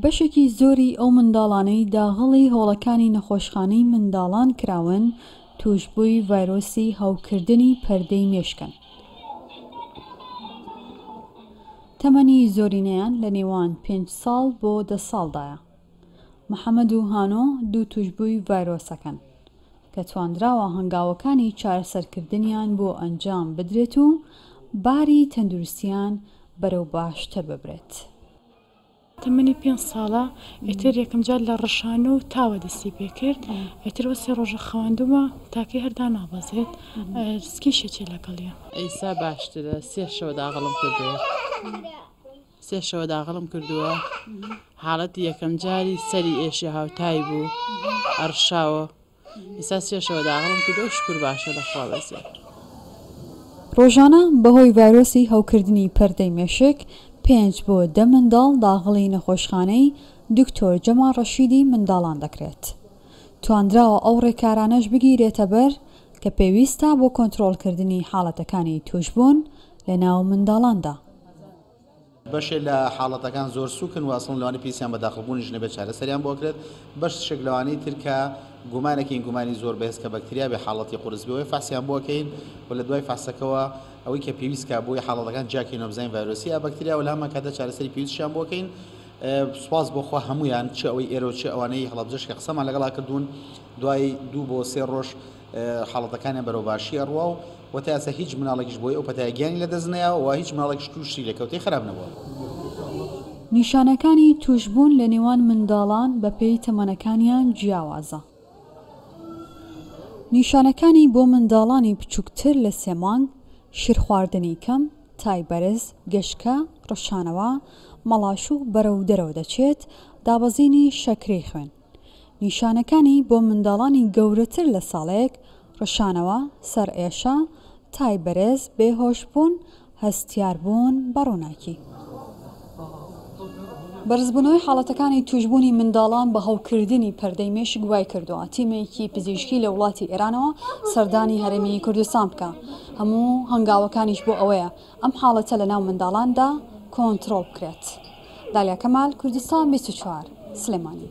بەشێکی زۆری ئەو منداڵانەی داغڵی هۆڵەکانی نەخۆشخانەی منداڵان کراون تووشبووی ڤایرۆسی هەوکردنی پەردەی مێشکن. تەمەنی زۆرینەیان لە نێوان پێنج ساڵ بۆ دە ساڵدایە. محەمەد و هانۆ دوو تووشبووی ڤایرۆسەکەن کە تواندراوە هەنگاوەکانی چارەسەرکردنیان بۆ ئەنجام بدرێت و باری تەندروستیان بەرەو باشتر ببرێت. تەمەنی پێنج ساڵە ئیتر یەکەم جار لە ڕشانە و تاوە دەستی پێکرد ئیتر وە سێ ڕۆژە خەواندومە تاکەی هەر دانابەزێت سکیشێکی لەگەڵیە. ئیسا باشترە سێ شەوە داغڵم کردووە سێ شەوە داغڵم کردووە حاڵەتی یەکەم جاری سەری ئێشێ هاوتای بوو ئەڕشاوە ئیستا سێ شەوە داغڵم کردووە شوکر باشە لەخوا بەزێ. ڕۆژانە بەهۆی ڤایرۆسی هەوکردنی پەردەی مێشک پێنج بۆ دە منداڵ داغڵی نەخۆشخانەی دکتۆر جەمال ڕەشیدی منداڵان دەکرێت. تواندراوە ئەو ڕێکارانەش بگیرێتەبەر کە پێویستە بۆ کۆنترۆڵکردنی حاڵەتەکانی تووشبوون لەناو منداڵاندا. بەشێ لە حاڵەتەکان زۆر سوکن و ئەسڵەن لەوانەیە پێویستیان بە داخڵ بوونیش نەبێت چارەسەریان بۆ ئەکرێت، بەشێک لەوانەی تر کە گومانەکەین گومانی زۆر بەهێز کە بەکتریا بێ حاڵەتی قورس بێ فەحسیان بۆ ئەکەین و لە دوای فەحسەکەوە ئەوەی کە پێویست کا بۆی حاڵەتەکان جیاکەینەوە بزانین ڤایرۆسی یا بەکتریا و لە هەمان کاتدا چارەسەری پێویستیان بۆ ئەکەین سوپاس بۆ خوا هەموویان چ ئەوەی ئێرە و چ ئەوانەی هەڵەبجەش کە قسەمان لەگەڵا کردوون دوای دوو بۆ سێ ڕۆژ حاڵەتەکانیان بەرەو باشی ئەڕوا و وە تا ئێستا هیچ مناڵێکیش بۆی ئەو پەتایە گیانی لەدەست نەیاوە و هیچ مناڵێکیش تووشی لێکەوتەی خراپ نەبووە. نیشانەکانی تووشبوون لە نێوان منداڵان بەپێی تەمەنەکانیان جیاوازە. نیشانەکانی بۆ منداڵانی بچووکتر لە سێ مانگ، شیرخواردنی کەم، تای بەرز، گەشکە، ڕشانەوە، مەڵاشوو بەرەو دەرەوە دەچێت، دابەزینی شەکرەی خوێن. نیشانەکانی بۆ منداڵانی گەورەتر لە ساڵێک، ڕشانەوە، سەرئێشە، تای بەرز، بێهۆشبوون، هەستیاربوون بە ڕووناکی. بەرزبوونەوەی حاڵەتەکانی تووشبوونی منداڵان بە هەوکردنی پەردەی مێشک وایکردووە تیمێکی پزیشکی لە وڵاتی ئێرانەوە سەردانی هەرێمی کوردستان بکا، هەموو هەنگاوەکانیش بۆ ئەوەیە ئەم حاڵەتە لەناو منداڵاندا کۆنترۆڵ بکرێت. دالیا کەمال، کوردستان 24، سلێمانی.